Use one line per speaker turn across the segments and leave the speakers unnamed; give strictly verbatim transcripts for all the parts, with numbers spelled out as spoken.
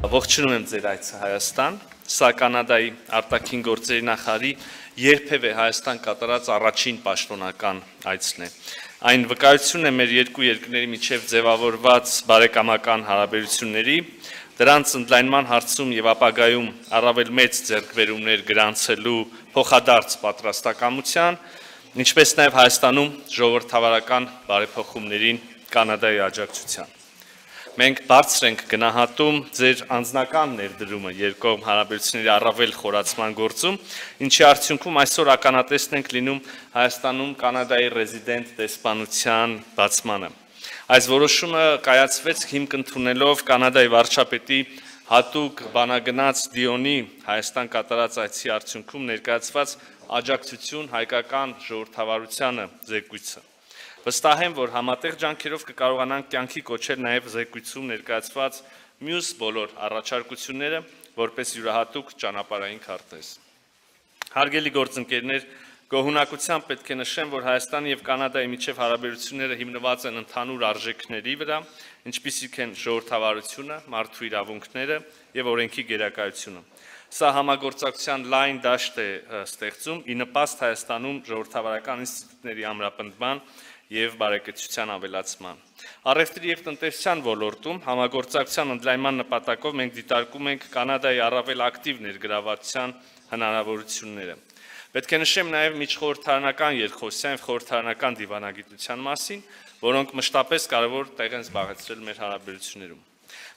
Ողջունում եմ ձեր այցը Հայաստան, սա Կանադայի արտաքին գործերի նախարարի երբևէ Հայաստան կատարած առաջին պաշտոնական այցն է։ Այն վկայությունն է մեր երկու երկրների միջև ձևավորված բարեկամական հարաբերությունների, դրանց ընդլայնման հարցում եւ ապագայում առավել մեծ ձեռքբերումներ գրանցելու փոխադարձ պատրաստակամության, ինչպես նաեւ Հայաստանում ժողովրդավարական բարեփոխումներին Կանադայի աջակցության։ Մենք բարձր ենք գնահատում ձեր անձնական ներդրումը երկկողմ հարաբերությունների առավել խորացման գործում, ինչի արդյունքում այսօր ականատեսն ենք լինում Հայաստանում Կանադայի ռեզիդենտ դեսպանության բացմանը։ Այս որոշումը կայացվեց հիմք ընդունելով Կանադայի վարչապետի հատուկ բանագնաց Դիոնի Հայաստան կատարած այցի արդյունքում ներկայացված աջակցություն հայկական ժողովրդավարությանը զեկույցը։ Վստահ եմ, որ համատեղ ջանքերով կկարողանանք կյանքի կոչել նաև զեկույցում ներկայացված մյուս բոլոր առաջարկությունները, որպես յուրահատուկ ճանապարհային քարտեզ։ Հարգելի գործընկերներ, գոհունակությամբ պետք է նշեմ, որ Հայաստանի եւ Կանադայի միջև հարաբերությունները հիմնված են ընդհանուր արժեքների վրա, ինչպիսիք են ժողովրդավարությունը, մարդու իրավունքները եւ օրենքի գերակայությունը։ Սա համագործակցության լայն դաշտ է ստեղծում ի նպաստ Հայաստանում ժողովրդավարական ինստիտուտների ամրապնդման եւ բարեկեցության ավելացման։ Առևտրի եւ տնտեսության ոլորտում համագործակցության ընդլայնման նպատակով մենք դիտարկում ենք Կանադայի առավել ակտիվ ներգրավվածության հնարավորությունները։ Պետք է նշեմ նաեւ միջխորհրդարանական երկխոսության եւ խորհրդարանական դիվանագիտության մասին, որոնք մշտապես կարևոր տեղ են զբաղեցրել մեր հարաբերություններում։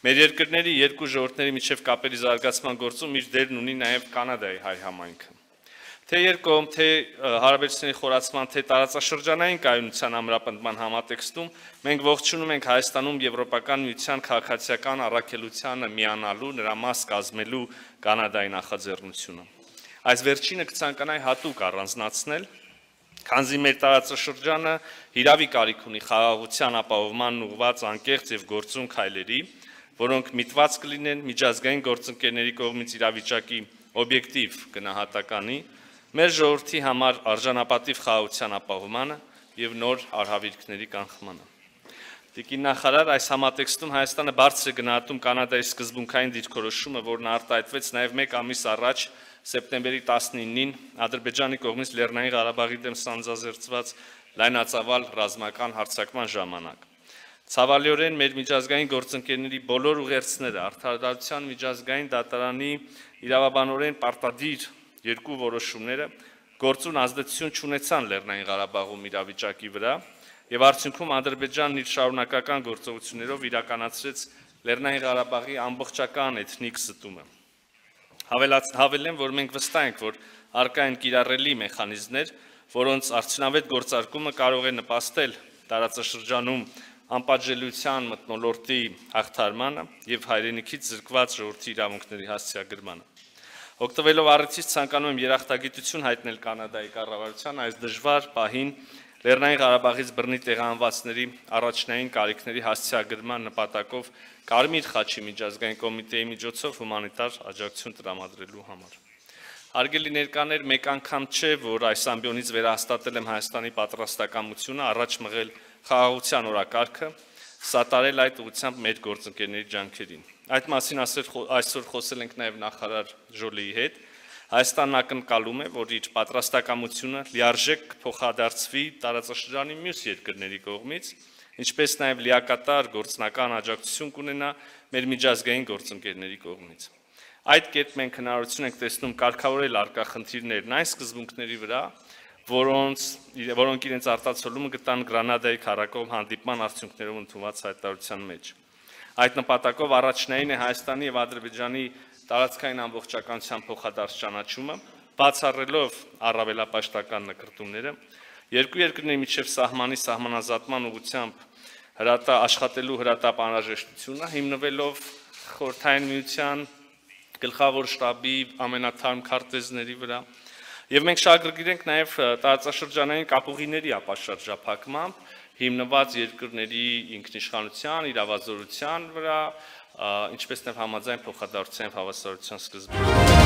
Մեր երկրների երկու ժողովուրդների միջև կապերի զարգացման գործում իր դերն ունի նաեւ Կանադայի հայ համայնքը։ Թե երկկողմ, թե հարաբերությունների խորացման, թե տարածաշրջանային կայունության ամրապնդման համատեքստում մենք ողջունում ենք Հայաստանում Եվրոպական միության քաղաքացիական առաքելությանը միանալու, նրա մաս կազմելու Կանադայի նախաձեռնությունը։ Այս վերջինը կցանկանայի հատուկ առանձնացնել, քանզի մեր տարածաշրջանը հիրավի կարիք ունի խաղաղության ապահովմանն ուղղված անկեղծ եւ գործուն քայլերի, որոնք միտված կլինեն միջազգային գործընկերների կողմից իրավիճակի օբյեկտիվ գնահատականի, մեր ժողովրդի համար արժանապատիվ խաղաղության ապահովմանը եւ նոր արհավիրքների կանխմանը։ Տիկին նախարար, այս համատեքստում Հայաստանը բարձր է գնահատում Կանադայի սկզբունքային դիրքորոշումը, որն արտահայտվեց նաեւ մեկ ամիս առաջ սեպտեմբերի տասնինին Ադրբեջանի կողմից Լեռնային Ղարաբաղի դեմ սանձազերծված լայնածավալ ռազմական հարձակման ժամանակ։ Ցավալիորեն մեր միջազգային գործընկերների բոլոր ուղերձները Արդարադատության միջազգային դատարանի իրավաբանորեն պարտադիր երկու որոշումները գործուն ազդեցություն չունեցան Լեռնային Ղարաբաղում իրավիճակի վրա եւ արդյունքում Ադրբեջանն իր շարունակական գործողություններով իրականացրեց Լեռնային Ղարաբաղի ամբողջական էթնիկ զտումը։ Հավելեմ, որ մենք վստահ ենք, որ առկա են կիրառելի մեխանիզմներ, որոնց արդյունավետ գործարկումը կարող է նպաստել տարածաշրջանում անպատժելիության մթնոլորտի հաղթարմանը եւ հայրենիքից զրկված ժողովրդի իրավունքների հասցեագրմանը։ Օգտվելով առիթից ցանկանում եմ երախտագիտություն հայտնել Կանադայի կառավարության այս դժվար պահին Լեռնային Ղարաբաղից բռնի տեղահանվածների առաջնային կարիքների հասցեագրման նպատակով Կարմիր խաչի միջազգային կոմիտեի միջոցով հումանիտար աջակցություն տրամադրելու համար։ Հարգելի ներկաներ, մեկ անգամ չէ, որ այս ամբիոնից վերահաստատել եմ Հայաստանի պատրաստակամությունը առաջ մղել խաղաղության օրակարգը, սատարել այդ ուղղությամբ մեր գործընկերների ջանքերին։ Այդ մասին այսօր խոսել ենք նաև նախարար Ժոլիի հետ։ Հայաստանն ակնկալում է, որ իր պատրաստակամությունը լիարժեք փոխադարձվի տարածաշրջանի մյուս երկրների կողմից, ինչպես նաև լիակատար գործնական աջակցություն կունենա մեր միջազգային գործընկերների կողմից։ Այդ կերպ մենք հնարավորություն ենք տեսնում կարգավորել առկա խնդիրներն այն սկզբունքների վրա, որոնց որոնք իրենց արտացոլումը գտան Գրանադայի քառակողմ հանդիպման արդյունքներով ընդունված հայտարարության մեջ։ Այդ նպատակով առաջնային է Հայաստանի եւ Ադրբեջանի տարածքային ամբողջականության փոխադարձ ճանաչումը, բացառելով առավելապաշտական նկրտումները, երկու երկրների միջև սահմանի սահմանազատման ուղղությամբ հրատա աշխատելու հրատապ անհրաժեշտությունը, հիմնվելով Խորհրդային Միության գլխավոր շտաբի ամենաթարմ քարտեզների վրա, եւ մենք շահագրգիռ ենք նաեւ տարածաշրջանային կապուղիների ապաշրջափակմամբ, հիմնված երկրների ինքնիշխանության, իրավազորության վրա, ինչպես նաև համաձայն փոխադարձության եւ հավասարության սկզբունքների։